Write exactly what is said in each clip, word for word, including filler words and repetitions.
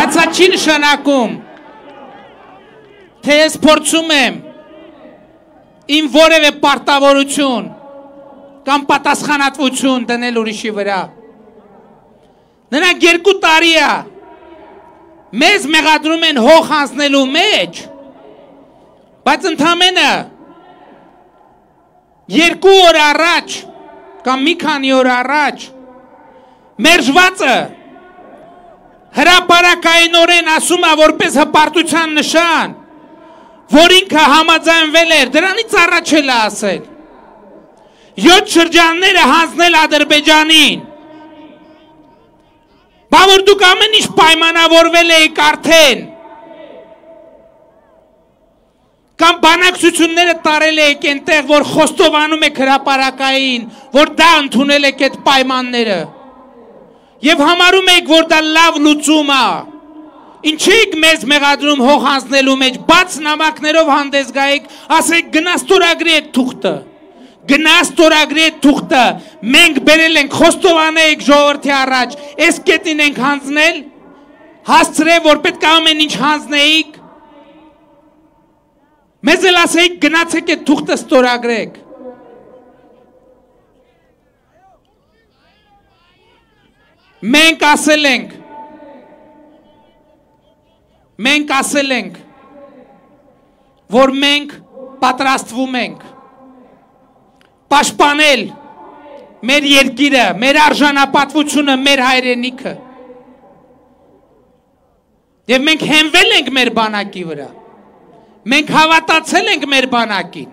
Ստացա չի նշանակում, թե ես փորձում եմ իմ որևէ պարտավորություն կամ պատասխանատվություն դնել ուրիշի վրա։ Նրանք երկու տարի է մեզ մեղադրում են հող հանձնելու մեջ, բայց ընդամենը երկու օր առաջ կամ մի քանի օր առաջ մերժվածը հրապարակայինորեն ասում է որպես հպարտության նշան, որ ինքը համաձայնվել էր, դրանից առաջ էլ է ասել, յոթ շրջանները հանձնել Ադրբեջանին, բա որ դուք ամեն ինչ պայմանավորվել եք արդեն, կամ բանակցությունները տարել եք այնտեղ, որ խոստովանում եք հրապարակային, որ դա ընդունել եք այդ պայմանները, և համարում եք, որ դա լավ լուծում է, ինչ եք մեզ մեղադրում հող հանձնելու մեջ, բաց նամակներով հանդես գայեք, ասեք գնա ստորագրի այդ թուղթը, գնա ստորագրի այդ թուղթը, մենք բերել ենք խոստովանեք ժողովրդի առաջ, այս կետին ենք հանձնել, հասցրել, որ պետք է ամեն ինչ հանձնեիք, մեզ էլ ասեիք գնացեք այդ թուղթը ստորագրեք։ Մենք ասել ենք, մենք ասել ենք, որ մենք պատրաստվում ենք պաշտպանել մեր երկիրը, մեր արժանապատվությունը, մեր հայրենիքը։ Եվ մենք հենվել ենք մեր բանակի վրա, մենք հավատացել ենք մեր բանակին։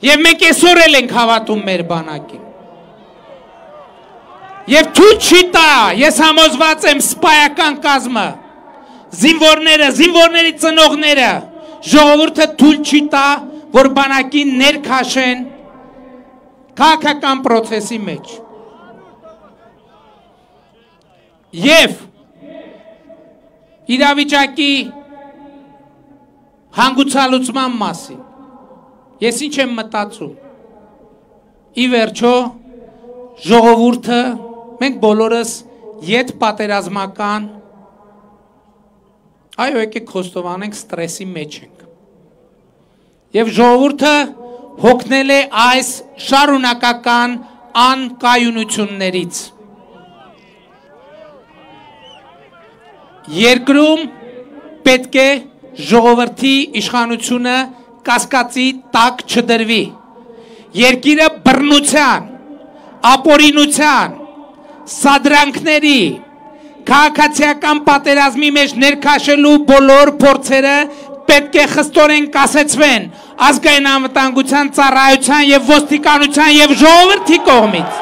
Եվ մենք այսօր էլ ենք հավատում մեր բանակին։ Եվ թույլ չի տա, ես համոզված եմ սպայական կազմը, զինվորները, զինվորների ծնողները, ժողովուրդը թույլ չի տա, որ բանակին ներքաշեն քաղաքական պրոցեսի մեջ։ Եվ իրավիճակի հանգուցալուծման մասին ես ինչ եմ մտածում, ի վերջո ժողովուրդը, մենք բոլորս ետ պատերազմական, այո եկեք խոստովանենք ստրեսի մեջ ենք, և ժողովուրդը հոգնել է այս շարունակական անկայունություններից, երկրում պետք է ժողովրդի իշխանությունը կասկածի տակ չդրվի, երկիրը բռնության, ապօրինության, սադրանքների, քաղաքացիական պատերազմի մեջ ներքաշելու բոլոր փորձերը պետք է խստորեն կասեցվեն ազգային անվտանգության ծառայության և ոստիկանության և ժողովրդի կողմից։